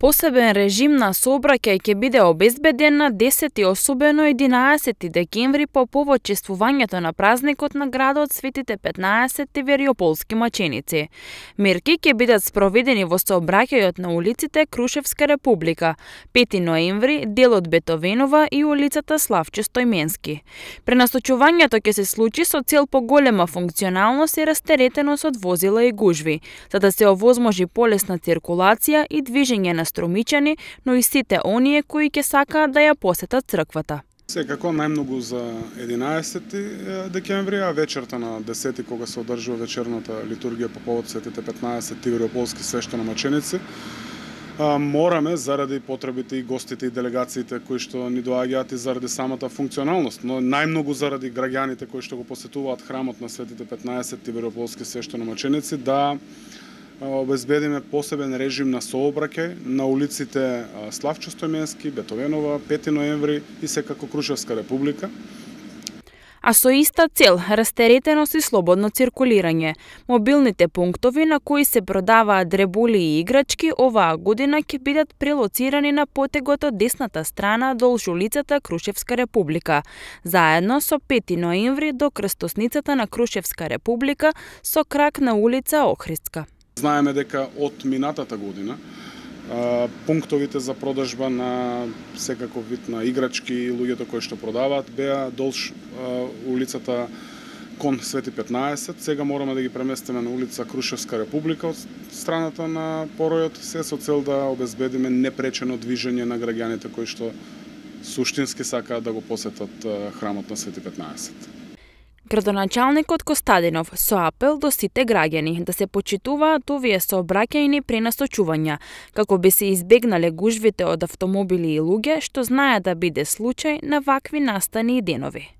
Посебен режим на сообраќај ќе биде обезбеден на 10 и особено 11 декември по повод чествувањето на празникот на градот Светите 15 Верјополски маченици. Мерки ќе бидат спроведени во сообраќајот на улиците Крушевска република, 5 ноември, делот Бетовенова и улицата Славчо Стојменски. Пренасочувањето ќе се случи со цел поголема функционалност и растеретеност од возила и гужви, за да се овозможи полесна циркулација и движење на струмичани, но и сите оние кои ќе сакаат да ја посетат црквата. Секако најмногу за 11 декември, а вечерта на 10 кога се одржува вечерната литургија по повод Светите 15 Верјополски свештеномаченици, мораме заради потребите и гостите и делегациите кои што ни доаѓаат и заради самата функционалност, но најмногу заради граѓаните кои што го посетуваат храмот на Светите 15 Верјополски свештеномаченици да обезбедиме посебен режим на сообраќај на улиците Славчо Стојменски, Бетовенова, 5 ноември и секако Крушевска република. А со иста цел, растеретеност и слободно циркулирање. Мобилните пунктови на кои се продаваат дребули и играчки оваа година ќе бидат прелоцирани на потегот од десната страна долж улицата Крушевска република, заедно со 5 ноември до крстосницата на Крушевска република со крак на улица Охридска. Знаеме дека од минатата година пунктовите за продажба на секаков вид на играчки и луѓето кои што продаваат беа долж улицата кон Свети 15. Сега мораме да ги преместиме на улица Крушевска република од страната на поројот, се со цел да обезбедиме непречено движење на граѓаните кои што суштински сакаат да го посетат храмот на Свети 15. Градоначалникот Костадинов со апел до сите граѓани да се почитуваат овие сообраќајни пренасочувања, како би се избегнале гужвите од автомобили и луѓе, што знаат да биде случај на вакви настани и денови.